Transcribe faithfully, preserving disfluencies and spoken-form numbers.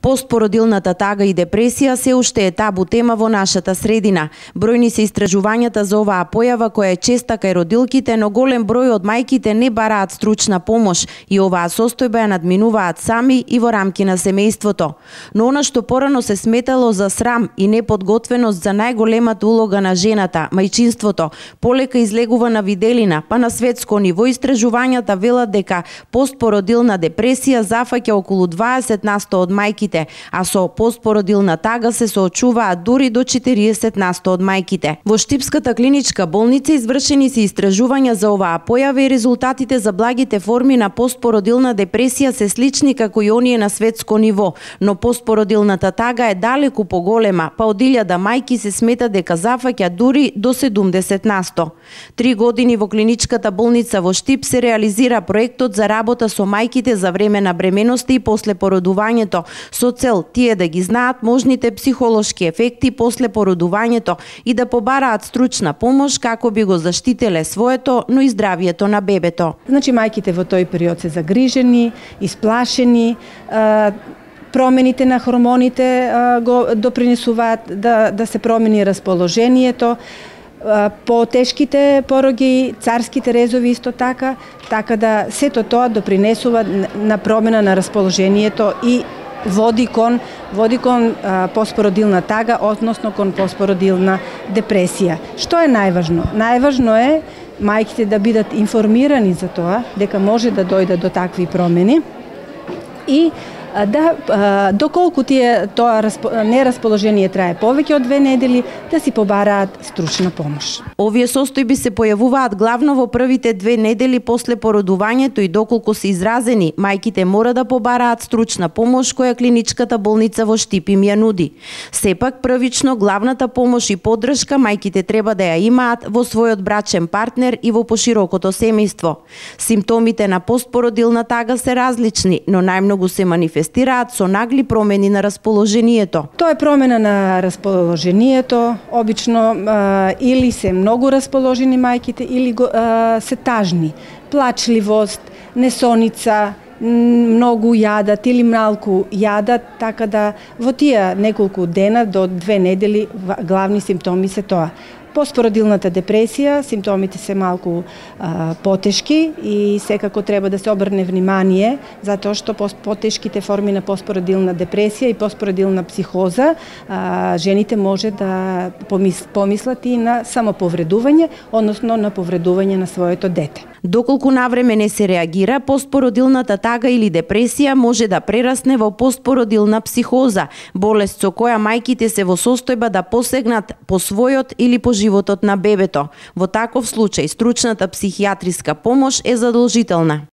Постпородилната тага и депресија се уште е табу тема во нашата средина. Бројни се истражувањата за оваа појава која е честа кај родилките, но голем број од мајките не бараат стручна помош и оваа состојба ја надминуваат сами и во рамки на семејството. Но она што порано се сметало за срам и неподготвеност за најголемата улога на жената, мајчинството, полека излегува на виделина, па на светско ниво истражувањата велат дека постпородилна депресија зафаќа околу дваесет насто од мајките, а со постпородилна тага се соочуваат дури до четириесет насто од мајките. Во Штипската клиничка болница извршени се истражувања за оваа појава и резултатите за благите форми на постпородилна депресија се слични како и оние на светско ниво, но постпородилната тага е далеку поголема, па од илјада мајки се смета дека зафаќа дури до седумдесет насто. Три години во клиничката болница во Штип се реализира проектот за работа со мајките за време на бременоста и после породувањето, со цел тие да ги знаат можните психолошки ефекти после породувањето и да побараат стручна помош како би го заштителе своето, но и здравието на бебето. Значи мајките во тој период се загрижени, исплашени, промените на хормоните го допринесуваат да, да се промени расположението, по тешките пороги, царските резови исто така, така да сето тоа допринесува на промена на расположението и води кон води кон а, постпородилна тага, односно кон постпородилна депресија. Што е најважно? Најважно е мајките да бидат информирани за тоа дека може да дојде до такви промени и да, доколку тие тоа нерасположение трае повеќе од две недели, да си побараат стручна помош. Овие состојби се појавуваат главно во првите две недели после породувањето и доколку се изразени, мајките мора да побараат стручна помош која клиничката болница во Штип им ја нуди. Сепак првично главната помош и поддршка мајките треба да ја имаат во својот брачен партнер и во поширокото семејство. Симптомите на постпородилна тага се различни, но најмногу се манифестираат со нагли промени на расположението. Тоа е промена на расположението, обично а, или се многу расположени мајките или а, се тажни. Плачливост, несоница, многу јадат или малку јадат, така да во тие неколку дена до две недели главни симптоми се тоа. Постпородилната депресија, симптомите се малку а, потешки и секако треба да се обрне внимание, затоа што потешките форми на постпородилна депресија и постпородилна психоза, а, жените може да помис, помислат и на самоповредување, односно на повредување на своето дете. Доколку навреме не се реагира, постпородилната тага или депресија може да прерасне во постпородилна психоза, болест со која мајките се во состојба да посегнат по својот или по животот на бебето. Во таков случај стручната психијатриска помош е задолжителна.